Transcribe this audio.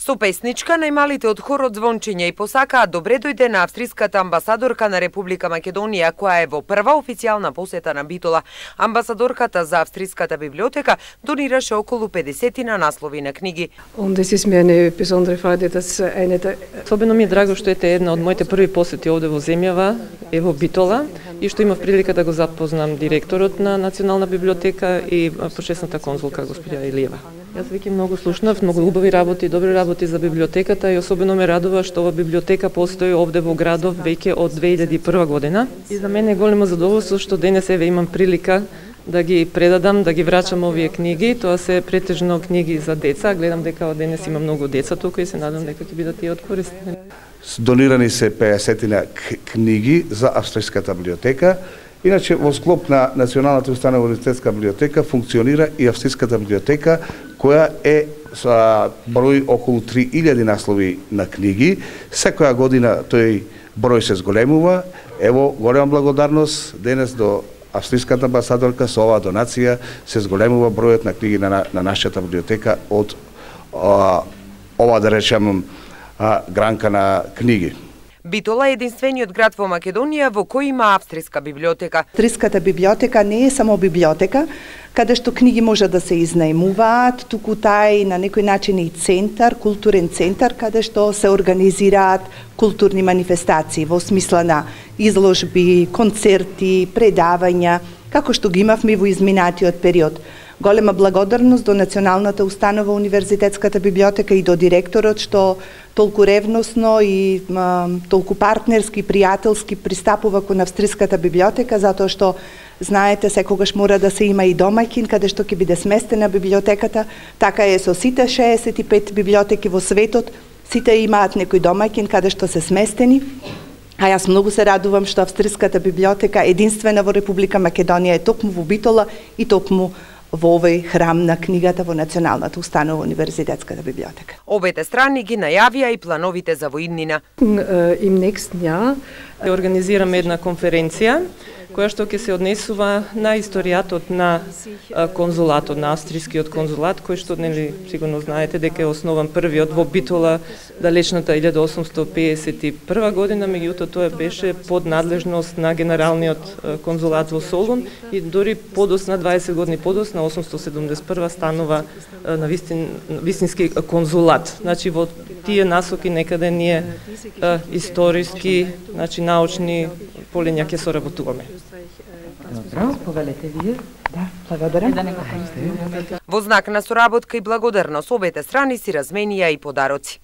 Со песничка најмалите од хорот звончиња и посакаат добре дојде на австриската амбасадорка на Република Македонија, која е во прва официјална посета на Битола. Амбасадорката за австриската библиотека донираше околу 50 наслови на книги. Особено ми е драго што ете една од моите први посети овде во земјава, е во Битола, и што имав прилика да го запознам директорот на Национална библиотека и почесната конзулка господја Илиева. Јас веќе многу слушнав, многу убави работи, добри работи за библиотеката и особено ме радува што ова библиотека постои овде во градов веќе од 2001 година. И за мене е големо задоволство што денес еве имам прилика да ги предадам, да ги врачам овие книги. Тоа се претежно книги за деца. Гледам дека од денес има многу деца тука и се надам дека ќе бидат и од корист. Донирани се 50 книги за австриската библиотека. Иначе во склоп на Националната установа универзитетска библиотека функционира и австриската библиотека, која е со број околу 3000 наслови на книги. Секоја година тој број се зголемува. Ево, голема благодарност денес до австриската амбасадорка со оваа донација се зголемува бројот на книги на нашата библиотека од ова, да речем, гранка на книги. Битола е единствениот град во Македонија во кој има австриска библиотека. Австриската библиотека не е само библиотека, каде што книги може да се изнајмуваат, туку таа е на некој начин и центар, културен центар, каде што се организираат културни манифестации во смисла на изложби, концерти, предавања, како што ги имавме во изминатиот период. Голема благодарност до Националната установа универзитетската библиотека и до директорот што толку ревносно и толку партнерски, пријателски пристапува кон австриската библиотека, затоа што знаете секогаш мора да се има и домаќин каде што ќе биде сместена библиотеката. Така е со сите 65 библиотеки во светот, сите имаат некој домаќин каде што се сместени. А јас многу се радувам што австриската библиотека единствена во Република Македонија е токму во Битола и токму во овој храм на книгата во Националната установа универзитетската библиотека. Обете страни ги најавија и плановите за воиднина. Им next jaar организираме една конференција која што ќе се однесува на историјатот на конзулатот, на австрискиот конзулат, кој што нели сигурно знаете дека е основан првиот во Битола далечната 1851 година, меѓутоа тоа беше под надлежност на генералниот конзулат во Солун и дури подосна 20 години подосна 871 станува на вистински конзулат. Значи во тие насоки некаде ние историски, значи научни полиња ќе соработуваме. Добро, повелете вие. Да, благодарам. Во знак на соработка и благодарност обете страни си разменија и подароци.